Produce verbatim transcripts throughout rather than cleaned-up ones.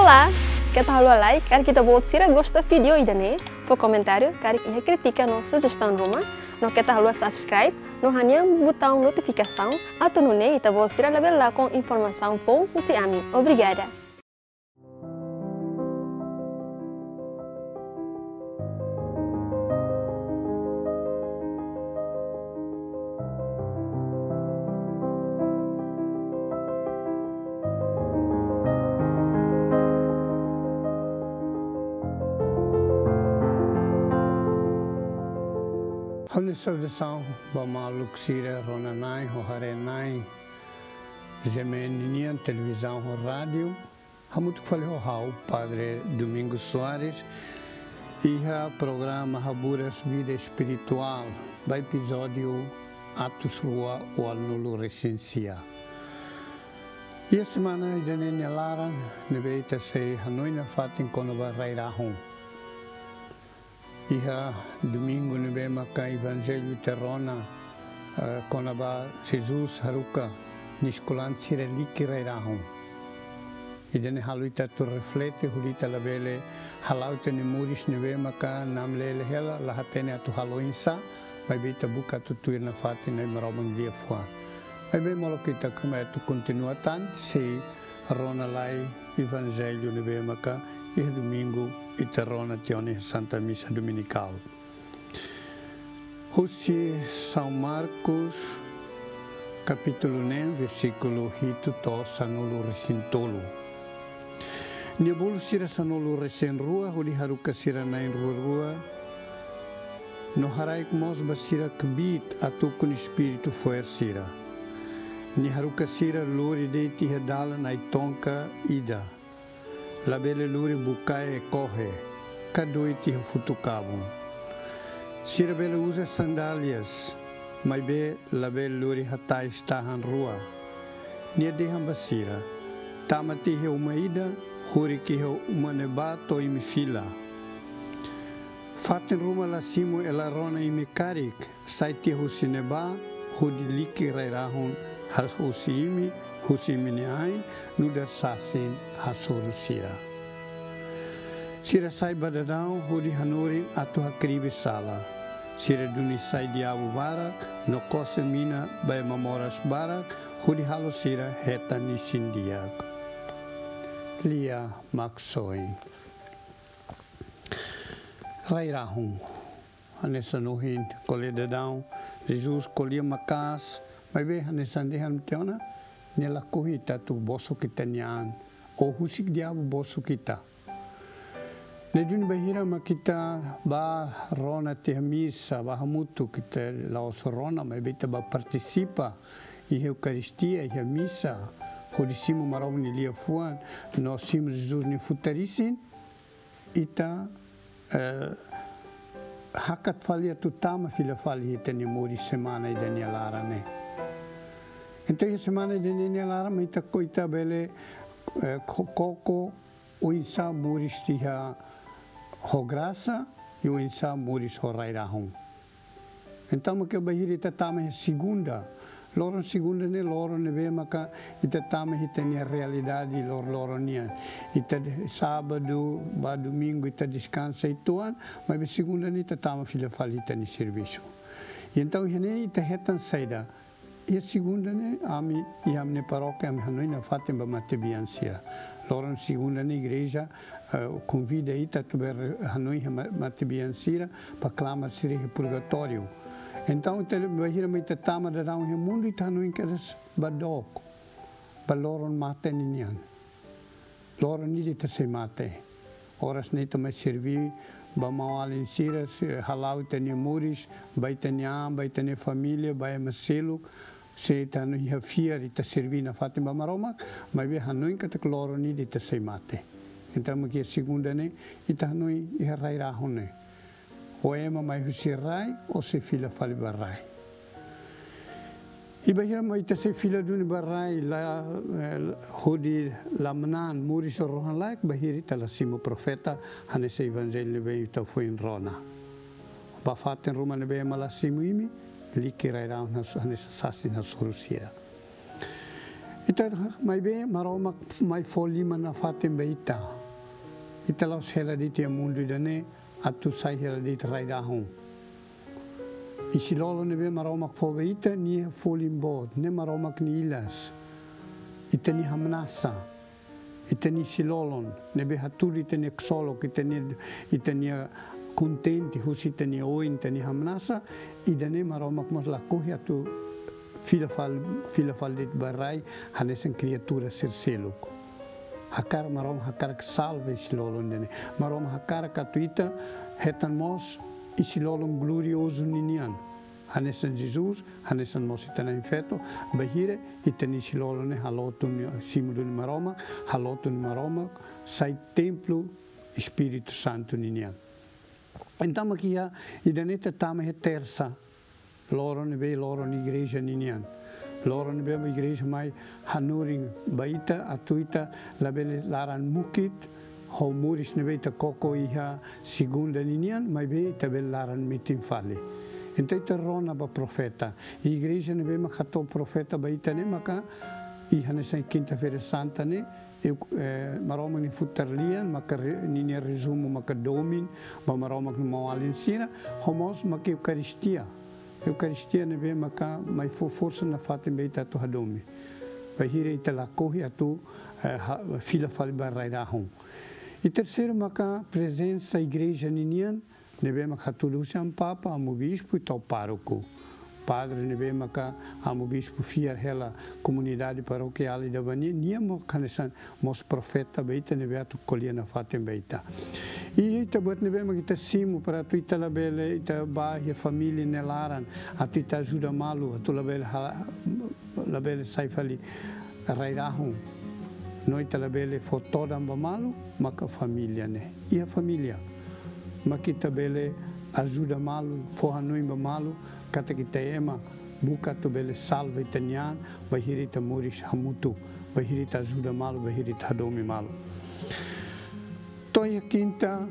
Keta haluha like, karik ita-boot sira gosta vídeo ida-ne'e, fó komentáriu, karik iha krítika no sujestaun ruma, no keta haluha subscribe, no hanehan butaun notifikasaun, atu nune'e ita-boot sira labele lakon informasaun foun husi ami. Obrigada. Ha'u-nia saudasaun ba maluk sira rona-na'in ho haree-na'in, G M N nian, televizaun ho rádiu. Hamutuk fali ho ha'u, Padre Domingos Soares, iha programa Haburas Vida Espirituál, ba epizódiu atus rua ualunulu-resin-sia. Iha semana ida-ne'e nia laran, ne'ebé ita sei hanoin nafatin kona-ba rai-rahun. Iha domingu ne'ebé maka Evanjellu ita rona, eh, kona-ba Jesus haruka nia eskolante sira liki rai-rahun. Ida-ne'e halo ita atu reflete, hodi ita labele hala'o ita-nia moris ne'ebé maka namlele hela, la hatene atu halo oinsá, maibé ita buka atu tuir nafatin Nai Maromak nia liafuan. Maibé molok ita kama atu kontinua tan, sei rona lai Evanjellu ne'ebé maka iha domingu ita rona tiha ona iha Santa Misa Dominikál. Husi São Marcos, kapítulu neen, versíkulu hitu to'o sanulu-resin-tolu. Nia bolu sira sanulu-resin-rua, hodi haruka sira na'in rua-rua, no haraik mós ba sira kbiit atu ukun espíritu fo'er sira. Nia haruka sira lori de'it iha dalan ai-tonka ida. Labele lori bukae kohe, ka doit iha futuk-kabun. Sira bele uza sandálias, maibé labele lori hatais tahan rua. Nia dehan ba sira: Tama tiha iha uma ida, hurik iha uma ne'ebá to'o imi fila. Fatin ruma la simu hela rona imi karik, sai tiha husi ne'ebá, hodi liki rai-rahun, hal husi imi, husi imi-nia ain, nu'udar sasin hasoru sira. Sira sai ba daudaun hodi hanorin atu hakribi sala. Sira duni sai diabu barak, no kose mina ba ema moras barak, hodi halo sira hetan isin-di'ak. Lia Maksoin. Rai-rahun. Hanesan ohin ko'alia daudaun, Jesus ko'alia maka'as, maibé hanesan dehan tiha ona, nia lakohi ita atu bosok ita-nia an, ou husik diabu bosok ita. Ne'e duni bainhira mak ita bá rona tiha misa, bá hamutuk, ita la'ós rona, maibé ita bá partisipa iha Eukaristia, iha misa, hodi simu Maromak nia liafuan, no simu Jesus nia futar isin, ita, eh, hakat fali atu tama fila fali iha ita-nia moris semana ida-ne'e nia laran ne'e. Entaun iha semana ida-ne'e nia laran mak ita ko-, ita bele, eh, ko-, koko oinsá moris iha ho grasa, i oinsá moris ho rai-rahun. Entaun mak bainhira ita tama iha segunda. Loron segunda ne'e loron ne'ebé maka ita tama iha ita-nia realidade lor-, loron nian. Ita de-, sábadu ba domingu ita deskansa uitoan, maibé segunda ne'e ita tama fila fali ita-nia servisu. I entaun iha ne'e ita hetan saida? Iha segunda ne'e ami, iha ami-nia parókia ami hanoin nafatin ba matebian sira. Loron segunda ne'e igreja, eh, konvida ita atu bele hanoin iha ma-, matebian sira, ba klamar sira iha purgatóriu. Entaun, ita bainhira mak ita tama daudaun iha mundu, ita hanoin kedas ba dook, ba loron mate ninian. Loron ida ita sei mate. Oras ne'e ita mai serví ba maun-alin sira, sei hala'o ita-nia moris, ba ita-nia an, ba ita-nia família, ba ema seluk, se ita hanoin iha fiar, ita serví nafatin ba Maromak, maibé hanoin katak loron ida ita sei mate. Entaun, mak iha segunda ne'e, ita hanoin iha rai-rahun ne'e. Ou ema mai husi rai, ou sei fila fali ba rai. I bainhira mak ita sei fila duni ba rai, la, eh, hodi la manán moris rohan-laek, bainhira ita la simu profeta, hanesan Evanjellu ne'ebé ita foin rona. Ba fatin ruma ne'ebé ema la simu imi, liki rai-rahun has-, hanesan sasin hasoru sira. Ita, maibé Maromak mai fó liman nafatin ba ita. Ita la'ós hela de'it iha mundu ida-ne'e atu sai hela de'it rai-rahun. Isin-lolon ne'ebé Maromak fó ba ita, nia folin boot, ne'e Maromak nia ilas. Ita-nia hamnasa, ita-nia isin-lolon ne'ebé hatudu ita-nia ksolok, ita-nia, ita-nia kontente husi ita-nia oin, ita-nia hamnasa, ida-ne'e Maromak mós lakohi atu fila fal-, fila fali de'it ba rai hanesan kriatura sira seluk. Hakarak Maromak hakarak salva isin-lolon ida-ne'e. Maromak hakarak atu ita hetan mós isin-lolon gloriozu ninian. Hanesan Jesus, hanesan mós ita-nia Na'in-Feto, bainhira ita-nia isin-lolon ne'e halo tun simu duni Maromak, halo tun Maromak, sai templu Espíritu Santu ninian. Entaun mak iha, ida-ne'e ita tama iha tersa, loron ne'ebé loron igreja ninian. Loron ne'ebé igreja mai hanorin ba ita, atu ita labele laran mukit, ho moris ne'ebé ita koko iha segunda ninian, maibé ita bele laran metin fali. Entaun ita rona ba profeta. Igreja ne'ebé mak hato'o profeta ba ita ne'e maka, iha hanesan kinta-feira santa ne'e, eu, eh, Maromak nia futar lian, maka re-, ninia rezumu maka domin ba Maromak nia maun-alin sira, ho mós maka Eukaristia. Eukaristia ne'ebé maka mai fó forsa nafatin ba ita atu hadomi. Bainhira ita lakohi atu, eh, ha-, fila fali ba rai-rahun. I terseiru maka prezensa igreja ninian, ne'ebé maka hatudu husi Amu Papa, Amu Bispu, i to'o pároku. Padre ne'ebé maka Amu Bispu fiar hela komunidade parokiál ida ba nia, nia mós hanesan mós profeta ba ita ne'ebé atu ko'alia nafatin ba ita. I ita buat ne'ebé maka ita simu para atu ita labele, ita bá iha família nia laran, atu ita ajuda malu, atu labele ha-, labele sai fali rai-rahun. No ita labele fó todan ba malu, maka família ne'e. Iha família. Maka ita bele ajuda malu, fó hanoin ba malu, katak ita ema, buka atu bele salva ita-nia an, bainhira ita moris hamutuk, bainhira ita ajuda malu, bainhira ita hadomi malu. To'o iha kinta,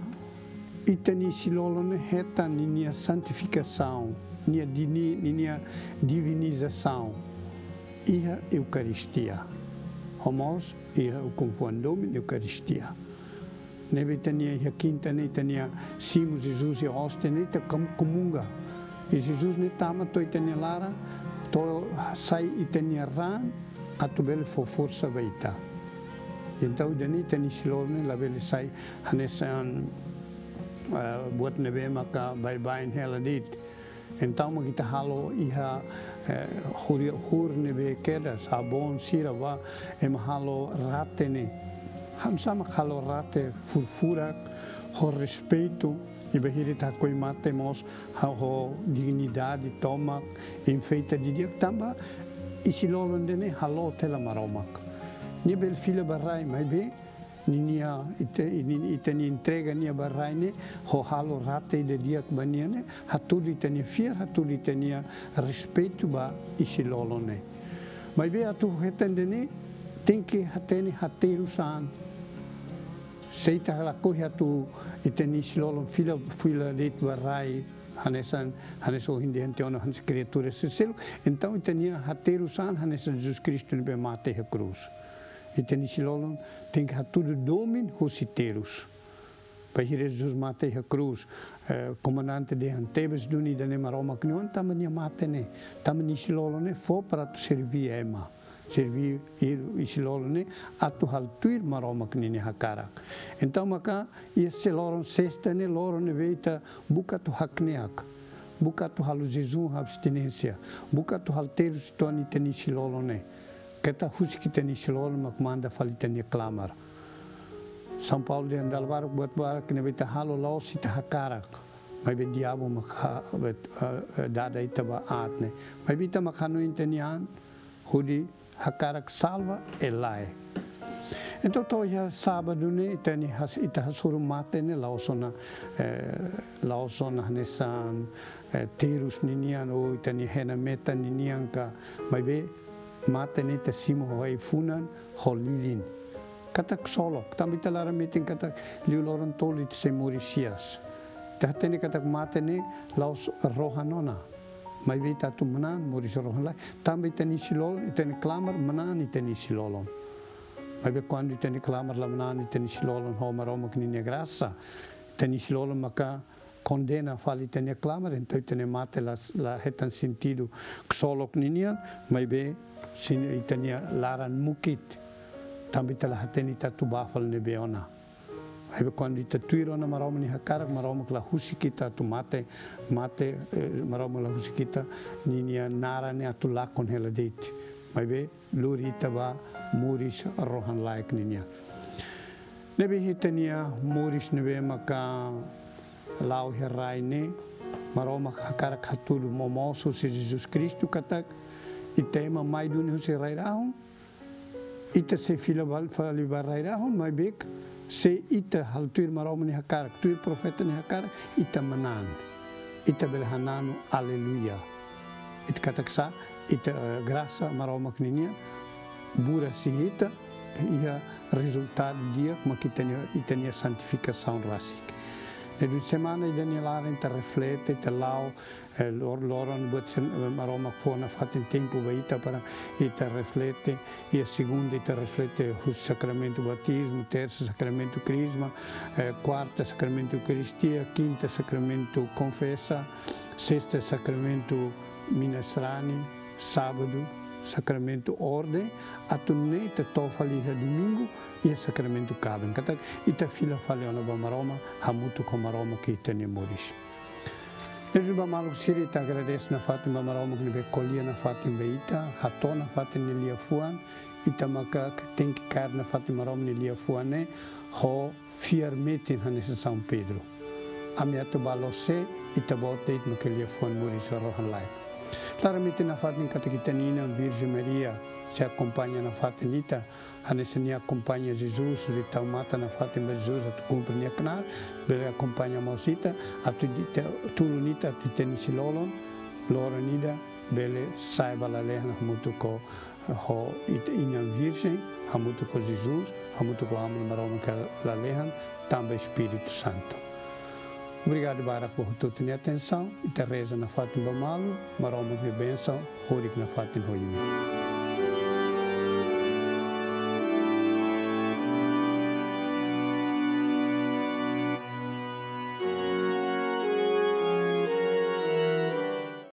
ita-nia isin-lolon ne'e hetan ninia santifikasaun, nia dini-, ninia divinizasaun. Iha Eukaristia. Ho mós, iha ukun-fuan domin Eukaristia. Ne'ebé ita-nia iha kinta ne'e ita-nia simu Jesus iha óstia ne'e ita kam-, komunga. I Jesus ne'e tama to'o ita-nia laran, to'o sai ita-nia raan, atu bele fó forsa ba ita. Entaun ida-ne'e ita-nia isin-lolon ne'e labele sai hanesan, eh, buat ne'ebé maka baibain hela de'it. Entaun mak ita halo iha, eh, huri-, hur ne'ebé kedas, sabon sira ba, ema halo rate ne'e. Hanesan mak halo rate furfurak, ho respeitu, i bainhira ita hakoi mate mós, ha-, ho dignidade tomak, enfeita didi'ak tanba isin-lolon ida-ne'e halo tiha ba Maromak. Nia bele fila ba rai, maibé, ninia, ita, ni-, ita-nia entrega nia ba rai ne'e, ho halo rate ida di'ak ba nia ne'e, hatudu ita-nia fiar, hatudu ita-nia respeitu ba isin-lolon ne'e. Maibé atu hetan ida-ne'e, tenke hatene haterus an. Se ita lakohi atu ita-nia isin-lolon fila, fila de'it ba rai, hanesan, hanesan ohin dehan tiha ona hanesan kriatura sira seluk, entaun ita-nia haterus an hanesan Jesus Kristu ne'ebé mate iha krús. Ita-nia isin-lolon tenke hatudu domin husi terus. Bainhira Jesus mate iha krús, eh, komandante dehan tebes duni ida-ne'e Maromak nia oan, tanba nia mate ne'e, tanba nia isin-lolon ne'e fó para atu serví ema. Serví i-, isin-lolon ne'e atu halo tuir Maromak ninia hakarak. Entaun maka iha loron sesta ne'e loron ne'ebé ita buka atu hakneak. Buka atu halo jejún abstinénsia. Buka atu halo terus uitoan ita-nia isin-lolon ne'e. Keta husik ita-nia isin-lolon mak manda fali ita-nia klamar. São Paulo dehan dala barak buat barak ne'ebé ita halo la'ós ita hakarak. Maibé diabu mak ha-, bet-, eh, eh, dada ita ba aat ne'e. Maibé ita mak hanoin ita-nia an, hodi hakarak salva i lae. Entaun to'o iha sábadu ne'e ita-nia has-, ita hasoru mate ne'e la'ós ona, eh, la'ós ona hanesan, eh, terus ninian ou ita-nia hena metan ninian ka, maibé mate ne'e ita simu ho ai-funan, ho lilin. Katak ksolok, tanba ita laran metin katak liu loron tolu ita sei moris hi'as. Ita hatene katak mate ne'e la'ós rohan ona. Maibé ita atu manán moris rohan-laek. Tanba ita-nia isin-lolon, ita-nia klamar manán ita-nia isin-lolon. Maibé kuandu ita-nia klamar la manán, ita-nia isin-lolon ho Maromak ninia grasa, ita-nia isin-lolon maka kondena fali ita-nia klamar, entaun ita-nia mate la, la hetan sentidu ksolok ninian, maibé sin ita-nia laran mukit, tanba ita la hatene ita atu bá fali ne'ebé ona. Maibé kuandu ita tuir ona Maromak nia hakarak, Maromak la husik ita atu mate, mate, eh, Maromak la husik ita ninia naran ne'e atu lakon hela de'it. Maibé lori ita ba moris rohan-laek ninian. Ne'ebé ita-nia moris ne'ebé maka la'o iha rai ne'e, Maromak hakarak hatudu momoos husi Jesus Kristu katak ita ema mai duni husi rai-rahun, ita sei fila bal-, fali ba rai-rahun, maibé se ita halo tuir Maromak nia hakarak, tuir profeta nia hakarak, ita manán. Ita bele hananu, aleluia. Ita katak sá, ita, eh, grasa Maromak ninian, buras iha ita, iha rezultadu di'ak mak ita-nia, ita-nia santifikasaun rasik. Ne'e durante semana ida-ne'e laran ita reflete, ita la'o, eh, lor-, loron buat sen-, eh, Maromak fó nafatin tempu ba ita para ita reflete, iha segunda ita reflete husi sakramentu batizmu, tersa sakramentu krizma, eh, kuarta sakramentu eukaristia, kinta sakramentu konfesa, sesta sakramentu mina-sarani, sábadu sakramentu orden, atu nune'e ita to'o fali iha domingu, iha sakramentu kaben. Katak ita fila fali ona ba Maromak, hamutuk ho Maromak iha ita-nia moris. Ne'e duni ba maluk sira, ita agradese nafatin ba Maromak ne'ebé ko'alia nafatin ba ita, hato'o nafatin nia liafuan, ita maka tenke kaer nafatin Maromak nia liafuan ne'e ho fiar metin hanesan São Pedro. Ami atu bá lose, Ita-Boot de'it maka liafuan moris rohan-laek. Klaramente nafatin katak ita-nia Inan Virjen Maria sei akompaña nafatin ita, hanesan nia akompaña Jesus, nia tau matan nafatin ba Jesus atu kumpre nia knaar, bele akompaña mós ita, atu ita, tulun ita, atu ita-nia isin-lolon, loron ida, bele sa'e ba lalehan hamutuk ho, ho ita-nia Inan Virjen, hamutuk ho Jesus, hamutuk ho Aman Maromak ka lalehan, tanba Espíritu Santu. Obrigadu barak ba hotu-hotu nia atensaun, ita reza nafatin ba malu, Maromak nia bensaun, horik nafatin ho imi.